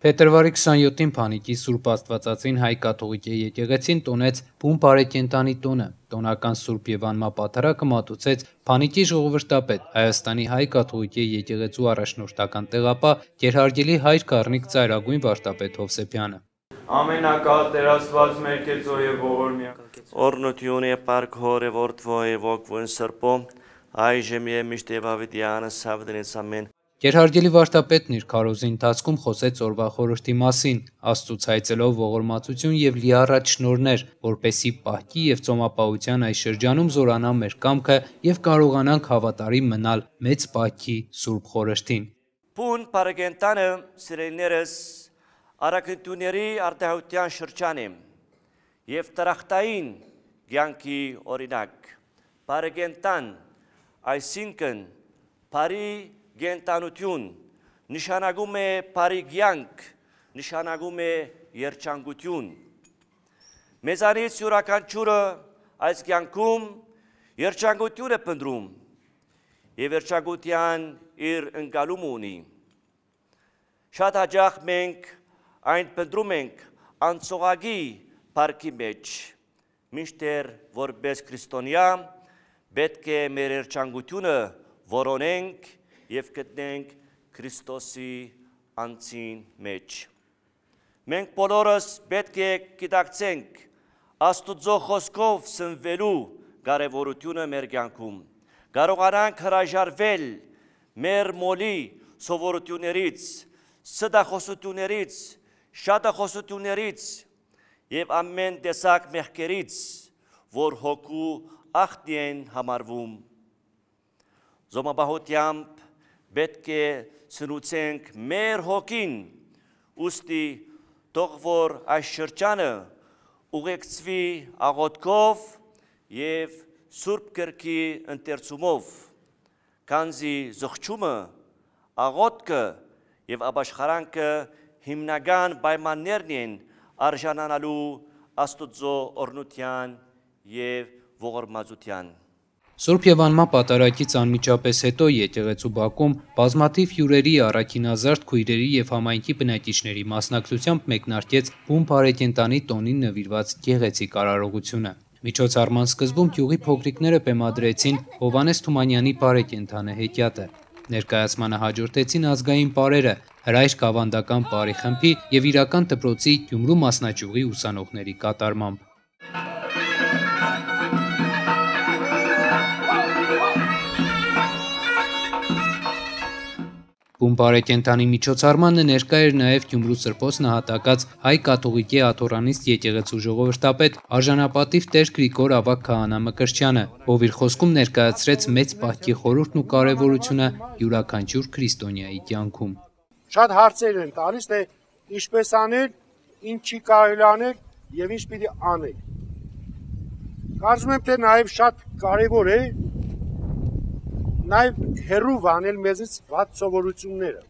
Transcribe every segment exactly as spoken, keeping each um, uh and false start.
Փետրվարի քսաներկուսին Փանիկի Սուրբ Աստվածածին հայ կաթողիկե եկեղեցին տոնեց բուն բարեկենդանի տոնը, տոնական Սուրբ Եվանմա պատարագը մատուցեց Փանիկի ժողովրդապետ, Հայաստանի հայ կաթողիկե եկեղեցու առաջնորդական տեղապահ Գերհարգելի հայր Գառնիկ ծայրագույն վարդապետ Հովսեփյանը։ Ամենակալ տերասված մեր կեցո եւ ողորմյա Օրնություն է պարկ հորը որդվո է ոգվոն սրպո այժմ է միշտեվավիդյանը սավդենից ամեն Գերհարգելի վարդապետն իր քարոզի ընթացքում խոսեց օրվա խորհրդի մասին, Աստծուց հայցելով ողորմածություն եւ լիառատ շնորհներ, որպեսի պահքի եւ ծոմապահության այս շրջանում զորանա մեր կամքը եւ կարողանանք հավատարիմ մնալ մեծ պահքի Սուրբ խորհրդին։ Բուն բարեկենդանը սիրելիներս արաքնտուների արտահայտության շրջան է եւ տրախտային ցանկի օրինակ բարեկենդան այսինքն բարի գենտանություն նշանակում է բարի ցանկ նշանակում է երջանկություն մեզանից յուրաքանչյուրը այս ցանկում երջանկություն է փնտրում եւ երջանկության իր ընկալում ունի շատ հաճախ մենք այն փնտրում ենք անցողագի բարքի մեջ մինչդեռ որպես քրիստոնյա պետք է մեր երջանկությունը որոնենք եւ գտնենք Քրիստոսի անձին մեջ։ Մենք բոլորս պետք է գիտակցենք Աստուծո խոսքով սնվելու կարևորությունը մեր կյանքում։ Կարողանանք հրաժարվել մեր մոլի սովորություններից, ստախոսություններից, շատախոսություններից եւ ամեն տեսակ մեղքերից, որ հոգու ախտի են համարվում։ Զոմապահությամբ պետք է սնուցենք մեր հոգին, ուստի թող որ այս շրջանը ուղեկցվի աղոթքով եւ Սուրբ Գրքի ընթերցումով, քանզի զղջումը, աղոթքը եւ ապաշխարանքը հիմնական պայմաններն են արժանանալու Աստուծո օրհնության եւ ողորմածության։ Սուրբ Եվանմա պատարագից անմիջապես հետո եկեղեցու բակում բազմաթիվ հյուրերի, առաքինազարդ քույրերի եւ համայնքի բնակիչների մասնակցությամբ մեկնարկեց բուն բարեկենդանի տոնին նվիրված գեղեցիկ արարողությունը։ Միջոցառման սկզբում գյուղի փոքրիկները բեմադրեցին Հովհաննես Թումանյանի բարեկենդանը հեքիաթը։ Ներկայացմանը հաջորդեցին ազգային պարերը, հրայր ավանդական պարի խմբի եւ իրական դպրոցի Գյումրու մասնաճյուղի ուսանողների կատարմամբ։ Բուն բարեկենդանի միջոցառմանը ներկա էր նաև Գյումրու Սրբոց նահատակած հայ կաթողիկե աթոռանիստ եկեղեցու ժողովրդապետ արժանապատիվ Տեր Գրիգոր Ավագ քահանա Մկրտչյանը, ով իր խոսքում ներկայացրեց մեծ պահքի խորհուրդն ու կարևորությունը յուրաքանչյուր քրիստոնյայի կյանքում։ Շատ հարցեր են տալիս, թե ինչպես անել, ինչ չի կարելի անել եւ ինչ պիտի անել։ Կարծում եմ, թե նաև շատ կարևոր է նաև հերու վանել մեզից վատ սովորությունները,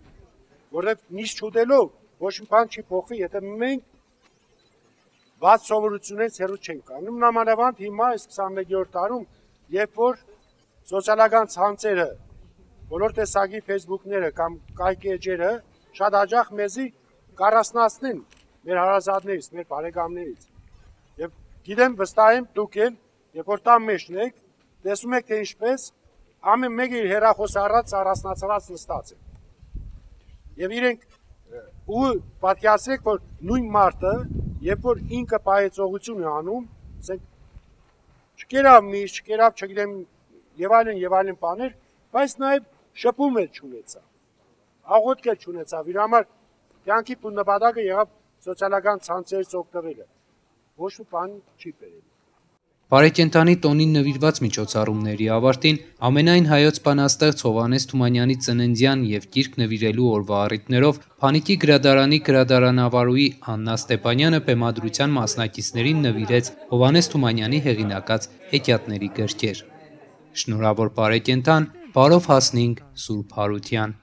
որովհետև միշտ չուտելով ոչ մի բան չի փոխվի, եթե մենք վատ սովորություններից հերու չենք կանում։ Նամանավանդ հիմա այս քսանմեկերորդ դարում, երբ որ սոցիալական ցանցերը, բոլոր տեսակի Facebook-ները կամ կայքի էջերը շատ հաճախ մեզի կարասնացնեն մեր հարազատներից, մեր բարեկամներից։ Եվ գիտեմ, վստահ եմ դուք էլ, երբ որ տան մեջն եք, տեսնում եք, թե ինչպես ամեն մեկը իր հեռախոս առած առանձնացած նստած է։ Եվ իրենք ու պատկերացրեք, որ նույն մարդը, երբ որ ինքը պահեցողություն է անում, ասենք չկերավ միշտ, չկերավ, չգիտեմ, եւ այլն եւ այլն բաներ, բայց նաեւ շփում էլ չունեցավ։ Աղոթք էլ չունեցավ։ Իր համար կյանքի բուն նպատակը եղավ սոցիալական ցանցերից օգտվելը։ Ոչ մի բան չի բերել։ Բարեկենդանի տոնին նվիրված միջոցառումների ավարտին ամենայն հայոց բանաստեղծ Հովհաննես Թումանյանի ծննդյան եւ գիրք նվիրելու օրվա առիթներով Փանիկի գրադարանի գրադարանավարուհի Աննա Ստեփանյանը բեմադրության մասնակիցներին նվիրեց Հովհաննես Թումանյանի հեղինակած հեքիաթների գրքեր։ Շնորհավոր բարեկենդան, բարով հասնենք Սուրբ Հարության։